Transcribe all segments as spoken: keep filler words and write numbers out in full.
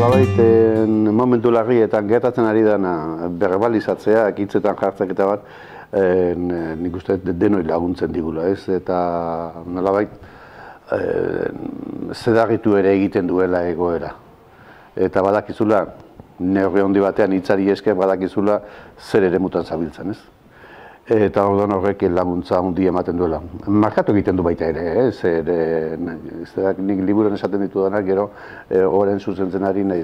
nolabait momentu larrietan gertatzen ari dena berbalizatzea, hitzetan jartzek eta bat, nik uste denoi laguntzen digula, ez? Eta nolabait zedarritu ere egiten duela egoera. Eta badakizula, neurri handi batean hitzari esker badakizula zer ere mutan zabiltzen, ez? Eta orduan horrek laguntza handi ematen duela. Markatu egiten du baita ere, zer nik liburuan esaten ditudanak, gero horren zuzentzenari nahi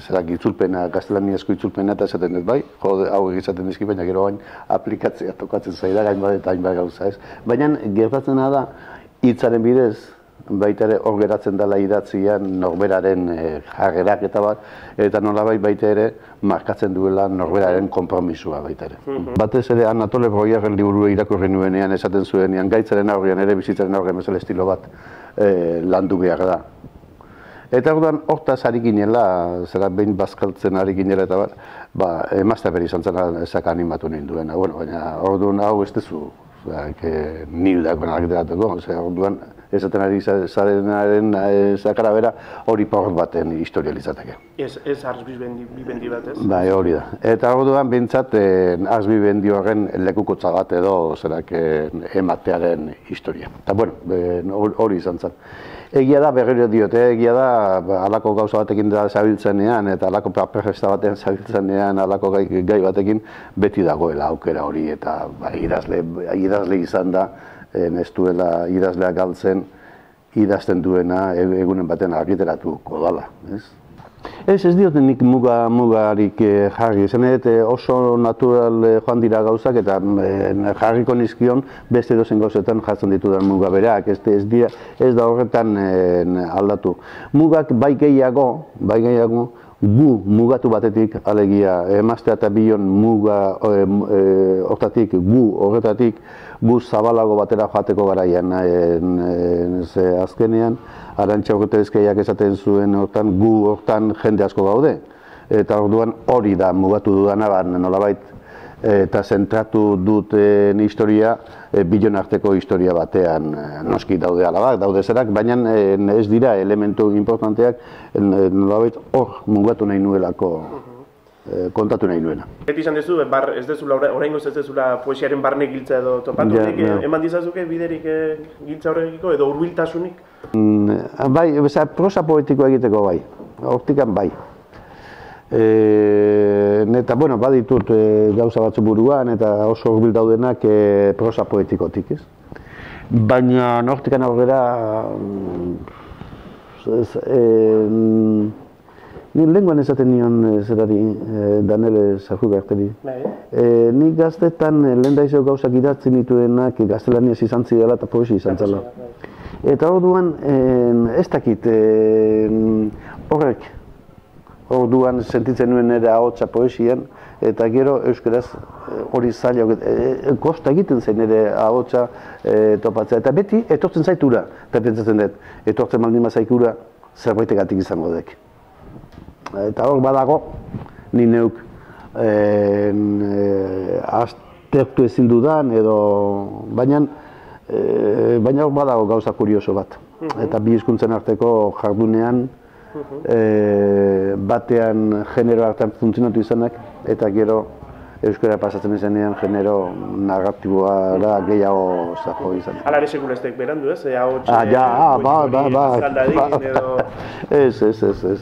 zerak itzulpena, gaztelaniazko itzulpena eta esaten dut bai, hau egizaten dizki, baina gero hain aplikatzea tokatzen zaida hainbat eta hainbat gauza, ez? Baina gertatzena da hitzaren bidez, baita ere hor geratzen dela idatzian norberaren jarrerak eta bat, eta nolabait baita ere markatzen duela norberaren konpromisua baita ere. Batez ere Anatole Broyaren liburua irakurri nuenean esaten zuenean, gaitzaren aurrean ere bizitzaren aurrean bezala estilo bat landu behar da. Eta orduan hortaz ari ginela, zera behin bazkaltzen ari ginela eta bat, emaztea beri izan zen ezak animatu nahi duena. Baina orduan hau ez dezu nildak benarkiteratuko, orduan esaten ari zarenaren zakara bera hori porrot baten historializateke. Ez Ars Vivendi bat, ez? Bai, hori da. Eta orduan bintzat Ars Vivendi horren lekukotza bat edo zerak ematearen historia. Eta bueno, hori izan zen. Egia da, berriro diote, egia da, halako gauza batekin da zabiltzenean eta halako paperresta batean zabiltzenean, halako gai batekin beti dagoela aukera hori eta idazle izan da, ez duela idazleak galtzen, idazten duena egunen baten argitaratuko dala. Ez, ez dioten nik mugarik jarri, zen oso natural joan dira gauzak eta jarriko nizkion beste edozen gauzetan jartzen ditudan muga berak, ez da horretan aldatu. Mugak bai gehiago, bai gehiago, gu mugatu batetik, alegia, emaztea eta bion muga horretatik, gu horretatik, gu zabalago batera joateko garaian azkenean, Arantxa Urretezkeiak esaten zuen hortan, gu hortan jende asko gaude. Eta orduan hori da mugatu dudana, nolabait, eta zentratu duten historia, bilon arteko historia batean noski daude alabak, daude zerak, baina ez dira elementu importanteak nolabait hor mugatu nahi nuelako, kontatu nahi nuena. Beti izan dezu, ez dezula, oraingoz ez dezula poesiaren barne giltza edo topatu, eman dizazuke biderik giltza horrekiko edo hurbiltasunik? Bai, prosa poetikoa egiteko bai, hortikan bai. Eta, bueno, baditut gauza batzu buruan eta oso hurbil daudenak prosa poetikotik, ez? Baina hortikan aurrera, nire lenguan esaten nion zerari, Daniel Sarrugarteri. Nik gaztetan lehen daizeo gauzak idatzen nituenak gaztelaniaz izan zidela eta poesi izan zela. Eta orduan, ez dakit, horrek, orduan sentitzen nuen ere ahotsa poesian, eta gero euskaraz hori zaila, kosta egiten zen ere ahotsa topatzea. Eta beti, etortzen zaitura, eta pentsatzen dut, etortzen baldin bazaikura, zerbaitegatik izango dek. Eta hor badago, ni neuk aztertu ezin dudan, edo, baina, baina hor badago gauza kurioso bat. Eta bi hizkuntzen arteko jardunean, batean genero hartan funtzionatu izanak, eta gero euskara pasatzen izanean genero narratiboa gehiago zaho izan. Hala ere sekulestek berandu, ez? Ah, ja, ba, ba, ba. Ez, ez, ez, ez.